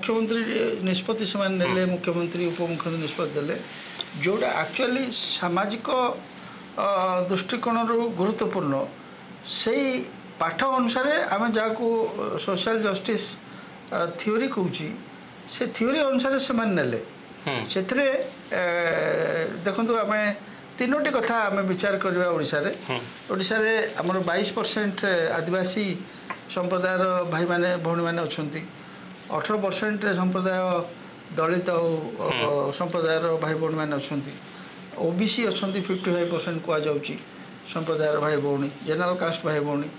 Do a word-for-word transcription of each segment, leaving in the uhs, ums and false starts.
ମୁଖ୍ୟମନ୍ତ୍ରୀ ନିଷ୍ପତ୍ତି ସେମାନେ ନେଲେ ମୁଖ୍ୟମନ୍ତ୍ରୀ ଉପମୁଖ୍ୟମନ୍ତ୍ରୀ ନିଷ୍ପତ୍ତି ଦେଲେ ଯେଉଁଟା ଆକ୍ଚୁଆଲି ସାମାଜିକ ଅ, ଦୃଷ୍ଟିକୋଣରୁ ଗୁରୁତ୍ୱପୂର୍ଣ୍ଣ ସେଇ ପାଠ ଅନୁସାରେ ଆମେ ଯାହାକୁ ସୋସିଆଲ ଜଷ୍ଟିସ୍ ଥିଓରି କହୁଛି ସେ ଥିଓରି ଅନୁସାରେ ସେମାନେ ନେଲେ ସେଥିରେ ଏ, ଦେଖନ୍ତୁ ଆମେ ତିନୋଟି କଥା ଆମେ ବିଚାର କରିବା ଓଡ଼ିଶାରେ ଓଡ଼ିଶାରେ ଆମର ବାଇଶ ପରସେଣ୍ଟ ଆଦିବାସୀ ସମ୍ପ୍ରଦାୟର ଭାଇମାନେ ଭଉଣୀମାନେ ଅଛନ୍ତି ଅଠର ପରସେଣ୍ଟ ସମ୍ପ୍ରଦାୟ ଦଳିତ ଆଉ ଅ, ସମ୍ପ୍ରଦାୟର ଭାଇ ଭଉଣୀମାନେ ଅଛନ୍ତି ଓ ବି ସି ଅଛନ୍ତି ଫିଫ୍ଟି ଫାଇଭ୍ ପରସେଣ୍ଟ କୁହାଯାଉଛି ସମ୍ପ୍ରଦାୟର ଭାଇ ଭଉଣୀ ଜେନେରାଲ କାଷ୍ଟ ଭାଇ ଭଉଣୀ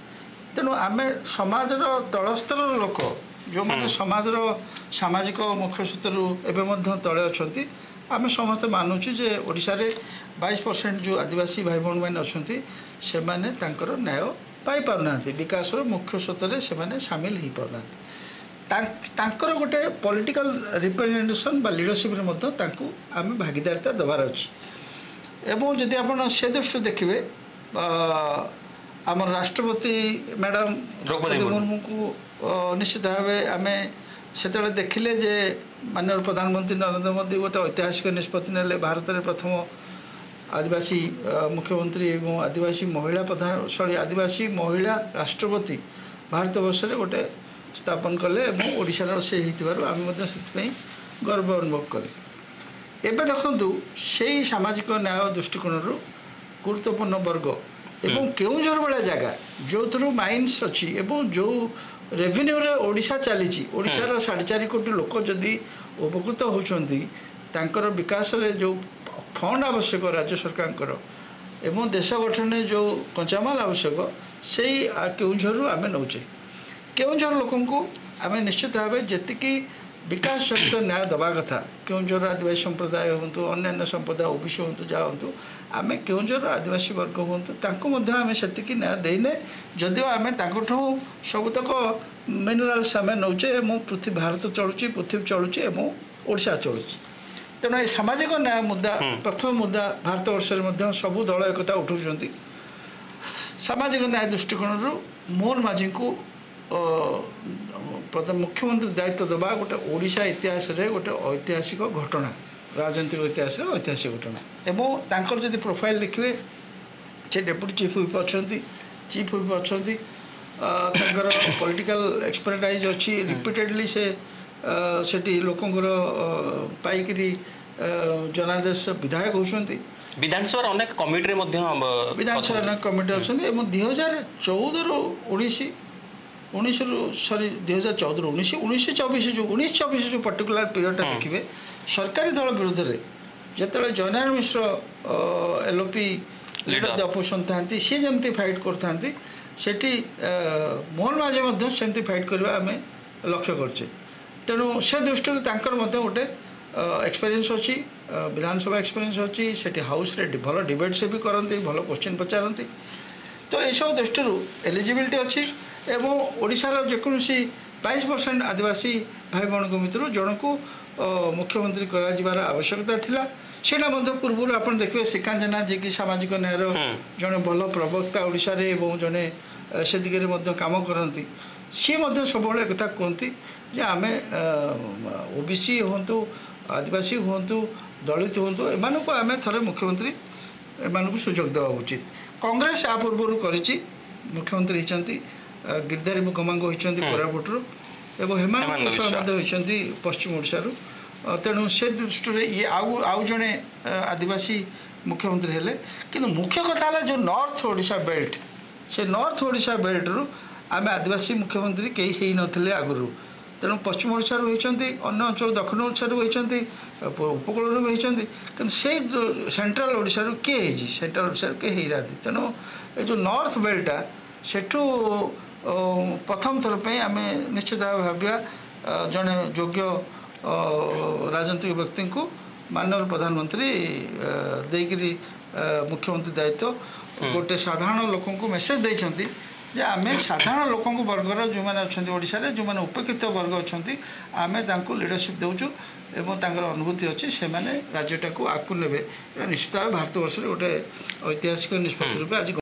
ତେଣୁ ଆମେ ସମାଜର ତଳ ସ୍ତରର ଲୋକ ଯେଉଁମାନେ ସମାଜର ସାମାଜିକ ମୁଖ୍ୟ ସ୍ରୋତରୁ ଏବେ ମଧ୍ୟ ତଳେ ଅଛନ୍ତି ଆମେ ସମସ୍ତେ ମାନୁଛୁ ଯେ ଓଡ଼ିଶାରେ ବାଇଶ ପରସେଣ୍ଟ ଯେଉଁ ଆଦିବାସୀ ଭାଇ ଭଉଣୀମାନେ ଅଛନ୍ତି ସେମାନେ ତାଙ୍କର ନ୍ୟାୟ ପାଇପାରୁନାହାନ୍ତି ବିକାଶର ମୁଖ୍ୟ ସ୍ରୋତରେ ସେମାନେ ସାମିଲ ହେଇପାରୁନାହାନ୍ତି ତାଙ୍କ- ତାଙ୍କର ଗୋଟେ ପଲିଟିକାଲ ରିପ୍ରେଜେଣ୍ଟେସନ୍ ବା ଲିଡରସିପ୍ରେ ମଧ୍ୟ ତାଙ୍କୁ ଆମେ ଭାଗିଦାରିତା ଦେବାର ଅଛି ଏବଂ ଯଦି ଆପଣ ସେ ଦୃଷ୍ଟିରୁ ଦେଖିବେ ଅ, ଆମର ରାଷ୍ଟ୍ରପତି ମ୍ୟାଡ଼ାମ ଦ୍ରୌପଦୀ ମୁର୍ମୁ। ମୁର୍ମୁଙ୍କୁ ଅ, ନିଶ୍ଚିତ ଭାବେ ଆମେ ସେତେବେଳେ ଦେଖିଲେ ଯେ ମାନ୍ୟବର ପ୍ରଧାନମନ୍ତ୍ରୀ ନରେନ୍ଦ୍ର ମୋଦି ଗୋଟେ ଐତିହାସିକ ନିଷ୍ପତ୍ତି ନେଲେ ଭାରତରେ ପ୍ରଥମ ଆଦିବାସୀ ଅ, ମୁଖ୍ୟମନ୍ତ୍ରୀ ଏବଂ ଆଦିବାସୀ ମହିଳା ପ୍ରଧାନ ସରି ଆଦିବାସୀ ମହିଳା ରାଷ୍ଟ୍ରପତି ଭାରତବର୍ଷରେ ଗୋଟେ ସ୍ଥାପନ କଲେ ଏବଂ ଓଡ଼ିଶାର ସେ ହେଇଥିବାରୁ ଆମେ ମଧ୍ୟ ସେଥିପାଇଁ ଗର୍ବ ଅନୁଭବ କଲେ ଏବେ ଦେଖନ୍ତୁ ସେଇ ସାମାଜିକ ନ୍ୟାୟ ଦୃଷ୍ଟିକୋଣରୁ ଗୁରୁତ୍ୱପୂର୍ଣ୍ଣ ବର୍ଗ ଏବଂ କେଉଁଝର ଭଳିଆ ଜାଗା ଯେଉଁଥିରୁ ମାଇନ୍ସ ଅଛି ଏବଂ ଯେଉଁ ରେଭିନ୍ୟୁରେ ଓଡ଼ିଶା ଚାଲିଛି ଓଡ଼ିଶାର ସାଢ଼େ ଚାରି କୋଟି ଲୋକ ଯଦି ଉପକୃତ ହେଉଛନ୍ତି ତାଙ୍କର ବିକାଶରେ ଯେଉଁ ଫଣ୍ଡ ଆବଶ୍ୟକ ରାଜ୍ୟ ସରକାରଙ୍କର ଏବଂ ଦେଶ ଗଠନରେ ଯେଉଁ କଞ୍ଚାମାଲ ଆବଶ୍ୟକ ସେଇ ଆ, କେଉଁଝରରୁ ଆମେ ନେଉଛେ କେଉଁଝର ଲୋକଙ୍କୁ ଆମେ ନିଶ୍ଚିତ ଭାବେ ଯେତିକି ବିକାଶ ଜନିତ ନ୍ୟାୟ ଦେବା କଥା କେଉଁଝର ଆଦିବାସୀ ସମ୍ପ୍ରଦାୟ ହୁଅନ୍ତୁ ଅନ୍ୟାନ୍ୟ ସମ୍ପ୍ରଦାୟ ଓବିସି ହୁଅନ୍ତୁ ଯାହା ହୁଅନ୍ତୁ ଆମେ କେଉଁଝର ଆଦିବାସୀ ବର୍ଗ ହୁଅନ୍ତୁ ତାଙ୍କୁ ମଧ୍ୟ ଆମେ ସେତିକି ନ୍ୟାୟ ଦେଇନେ ଯଦିଓ ଆମେ ତାଙ୍କଠୁ ସବୁତକ ମିନେରାଲ୍ସ ଆମେ ନେଉଛେ ଏବଂ ପୃଥିବୀ ଭାରତ ଚଳୁଛି ପୃଥିବୀ ଚଳୁଛି ଏବଂ ଓଡ଼ିଶା ଚଳୁଛି ତେଣୁ ଏ ସାମାଜିକ ନ୍ୟାୟ ମୁଦ୍ଦା ପ୍ରଥମ ମୁଦ୍ଦା ଭାରତବର୍ଷରେ ମଧ୍ୟ ସବୁ ଦଳ ଏକଥା ଉଠାଉଛନ୍ତି ସାମାଜିକ ନ୍ୟାୟ ଦୃଷ୍ଟିକୋଣରୁ ମୋହନ ମାଝୀଙ୍କୁ ଅ, ପ୍ରଧାନ ମୁଖ୍ୟମନ୍ତ୍ରୀ ଦାୟିତ୍ୱ ଦେବା ଗୋଟେ ଓଡ଼ିଶା ଇତିହାସରେ ଗୋଟେ ଐତିହାସିକ ଘଟଣା ରାଜନୈତିକ ଇତିହାସରେ ଐତିହାସିକ ଘଟଣା ଏବଂ ତାଙ୍କର ଯଦି ପ୍ରୋଫାଇଲ୍ ଦେଖିବେ ସେ ଡେପୁଟି ଚିଫ୍ ହୁଇପ୍ ଅଛନ୍ତି ଚିଫ୍ ହୁଇପ୍ ଅଛନ୍ତି ଅ, ତାଙ୍କର ପଲିଟିକାଲ ଏକ୍ସପର୍ଟାଇଜ୍ ଅଛି ରିପିଟେଡ଼ଲି ସେ ଅ, ସେଠି ଲୋକଙ୍କର ଅ, ପାଇକିରି ଅ, ଜନାଦେଶ ବିଧାୟକ ହେଉଛନ୍ତି ବିଧାନସଭାର ଅନେକ କମିଟିରେ ମଧ୍ୟ ଅ, ବିଧାନସଭା ଅଛନ୍ତି। କମିଟି ଅଛନ୍ତି ଏବଂ ଦୁଇ ହଜାର ଚଉଦରୁ ଉଣେଇଶ ଉଣେଇଶରୁ ସରି ଦୁଇ ହଜାର ଚଉଦରୁ ଉଣେଇଶ ଉଣେଇଶ ଚବିଶ ଯେଉଁ ଉଣେଇଶ ଚବିଶ ଯେଉଁ ପର୍ଟିକୁଲାର ପିରିୟଡ଼ଟା ଦେଖିବେ ସରକାରୀ ଦଳ ବିରୁଦ୍ଧରେ ଯେତେବେଳେ Jayanarayan Mishra L O P leader Leader. Opposition ଥାନ୍ତି ସିଏ ଯେମିତି ଫାଇଟ୍ କରୁଥାନ୍ତି ସେଠି ଅ, ମୋହନ ମାଝୀ ମଧ୍ୟ ସେମିତି ଫାଇଟ୍ କରିବା ଆମେ ଲକ୍ଷ୍ୟ କରୁଛେ ତେଣୁ ସେ ଦୃଷ୍ଟିରୁ ତାଙ୍କର ମଧ୍ୟ ଗୋଟେ ଏକ୍ସପିରିଏନ୍ସ ଅଛି ଅ, ବିଧାନସଭା ଏକ୍ସପିରିଏନ୍ସ ଅଛି ସେଠି ହାଉସ୍ରେ ଭଲ ଡିବେଟ୍ ସେ ବି କରନ୍ତି ଭଲ କୋଶ୍ଚିନ୍ ପଚାରନ୍ତି ତ ଏସବୁ ଦୃଷ୍ଟିରୁ ଏଲିଜିବିଲିଟି ଅଛି ଏବଂ ଓଡ଼ିଶାର ଯେକୌଣସି ବାଇଶ ପରସେଣ୍ଟ ଆଦିବାସୀ ଭାଇ ଭଉଣୀଙ୍କ ଭିତରୁ ଜଣକୁ ଅ, ମୁଖ୍ୟମନ୍ତ୍ରୀ କରାଯିବାର ଆବଶ୍ୟକତା ଥିଲା ସେଇଟା ମଧ୍ୟ ପୂର୍ବରୁ ଆପଣ ଦେଖିବେ ଶ୍ରୀକାନ୍ତ ଜେନା ଯିଏକି ସାମାଜିକ ନ୍ୟାୟର ଜଣେ ଭଲ ପ୍ରବକ୍ତା ଓଡ଼ିଶାରେ ଏବଂ ଜଣେ ଅ, ସେ ଦିଗରେ ମଧ୍ୟ କାମ କରନ୍ତି ସିଏ ମଧ୍ୟ ସବୁବେଳେ ଏକଥା କୁହନ୍ତି ଯେ ଆମେ ଓ ବି ସି ହୁଅନ୍ତୁ ଆଦିବାସୀ ହୁଅନ୍ତୁ ଦଳିତ ହୁଅନ୍ତୁ ଏମାନଙ୍କୁ ଆମେ ଥରେ ମୁଖ୍ୟମନ୍ତ୍ରୀ ଏମାନଙ୍କୁ ସୁଯୋଗ ଦେବା ଉଚିତ କଂଗ୍ରେସ ଆ ପୂର୍ବରୁ କରିଛି ମୁଖ୍ୟମନ୍ତ୍ରୀ ହେଇଛନ୍ତି ଅ, ଗିରିଧାରୀ ଗମାଙ୍ଗ ହୋଇଛନ୍ତି କୋରାପୁଟରୁ ଏବଂ ହେମନ୍ତ ହେମନ୍ତ ବିଶ୍ୱାଳ ବିଶ୍ୱାଳ। ମଧ୍ୟ ହୋଇଛନ୍ତି ପଶ୍ଚିମ ଓଡ଼ିଶାରୁ ଅ, ତେଣୁ ସେ ଦୃଷ୍ଟିରେ ଇଏ ଆଉ ଆଉ ଜଣେ ଅ, ଆଦିବାସୀ ମୁଖ୍ୟମନ୍ତ୍ରୀ ହେଲେ କିନ୍ତୁ ମୁଖ୍ୟ କଥା ହେଲା ଯେଉଁ ନର୍ଥ ଓଡ଼ିଶା ବେଲ୍ଟ ସେ ନର୍ଥ ଓଡ଼ିଶା ବେଲ୍ଟରୁ ଆମେ ଆଦିବାସୀ ମୁଖ୍ୟମନ୍ତ୍ରୀ କେହି ହେଇନଥିଲେ ଆଗରୁ ତେଣୁ ପଶ୍ଚିମ ଓଡ଼ିଶାରୁ ହେଇଛନ୍ତି ଅନ୍ୟ ଅଞ୍ଚଳ ଦକ୍ଷିଣ ଓଡ଼ିଶାରୁ ହେଇଛନ୍ତି ଉପକୂଳରୁ ବି ହେଇଛନ୍ତି କିନ୍ତୁ ସେଇ ସେଣ୍ଟ୍ରାଲ ଓଡ଼ିଶାରୁ କିଏ ହେଇଛି ସେଣ୍ଟ୍ରାଲ ଓଡ଼ିଶାରୁ କେହି ହେଇନାହାନ୍ତି ତେଣୁ ଏ ଯେଉଁ ନର୍ଥ ବେଲ୍ଟଟା ସେଠୁ ଅ, ପ୍ରଥମ ଥର ପାଇଁ ଆମେ ନିଶ୍ଚିତ ଭାବେ ଭାବିବା ଅ, ଜଣେ ଯୋଗ୍ୟ ଅ, ରାଜନୈତିକ ବ୍ୟକ୍ତିଙ୍କୁ ମାନ୍ୟବର ପ୍ରଧାନମନ୍ତ୍ରୀ ଅ, ଦେଇକିରି ଅ, ମୁଖ୍ୟମନ୍ତ୍ରୀ ଦାୟିତ୍ୱ ଗୋଟେ ସାଧାରଣ ଲୋକଙ୍କୁ ମେସେଜ ଦେଇଛନ୍ତି ଯେ ଆମେ ସାଧାରଣ ଲୋକଙ୍କ ବର୍ଗର ଯେଉଁମାନେ ଅଛନ୍ତି ଓଡ଼ିଶାରେ ଯେଉଁମାନେ ଉପେକ୍ଷିତ ବର୍ଗ ଅଛନ୍ତି ଆମେ ତାଙ୍କୁ ଲିଡରସିପ୍ ଦେଉଛୁ ଏବଂ ତାଙ୍କର ଅନୁଭୂତି ଅଛି ସେମାନେ ରାଜ୍ୟଟାକୁ ଆଗକୁ ନେବେ ଏଇଟା ନିଶ୍ଚିତ ଭାବେ ଭାରତବର୍ଷରେ ଗୋଟେ ଐତିହାସିକ ନିଷ୍ପତ୍ତି ରୂପେ ଆଜି